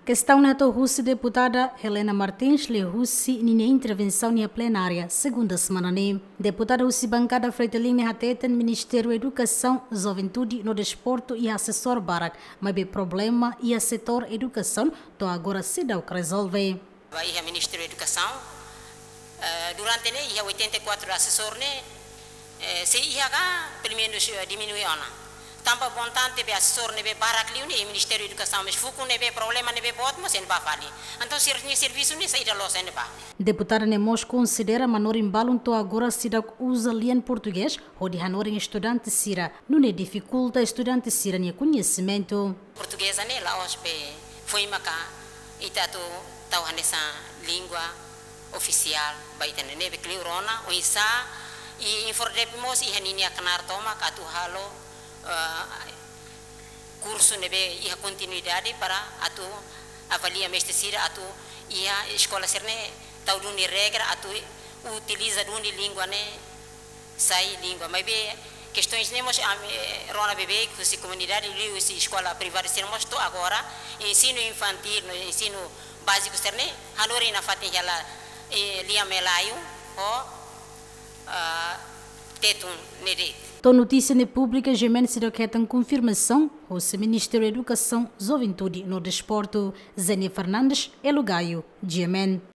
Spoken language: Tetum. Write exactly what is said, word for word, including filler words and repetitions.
Kestaun ne'e hato'o husi deputada Helena Martins liuhusi ninia intervensaun iha plenária segunda semana ne'e. Deputada husi bankada Fretilin ne'e hateten Ministériu Edukasaun, Juventude no Desportu iha asesór barak, maibé problema iha setór edukasaun to'o agora seidauk rezolve. Ba iha Ministériu Edukasaun, eh, durante ne'e iha oitenta e quatro asesór ne'e, eh, se iha ka, pelumenus, eh, diminui ona. Tanba montante be asesór ne'ebé barak liu ne'e, Ministériu Edukasaun mós fukun ne'ebé problema ne'ebé boot mós iha ne'ebá fali. Entaun, sira-nia servisu ne'e saida loos iha ne'ebá. Deputada ne'e mós konsidera manorin balun to'o agora seidauk uza lian portugés hodi hanorin estudante sira, nune'e difikulta estudante sira-nia koñesimentu. Portugeza ne'e la'ós be foin maka ita atu tau hanesan língua ofisiál ba ita ne'e, ne'ebé kleur ona, oinsá, i INFORDEPE mós iha ninia knaar tomak atu halo, eh, kursu ne'ebé iha kontinuidade para atu avalia mestre sira atu iha eskola sira-ne'e tau duni regra atu utiliza duni língua ne'e sai língua. Maibé kestaun ne'e mós ami rona bebeik husi komunidade liuhusi eskola privadu sira mós to'o agora, ensinu infantíl no ensinu báziku sira-ne'e hanorin nafatin hela, eh, lian Malayu ho, ah, Tetun ne'e de'it. To'o notísia ne'e públika, GMN seidauk hetan konfirmasaun husi Ministériu Edukasaun, Juventude no Desportu. Zenia Fernandes, Elo Gayo, GMN.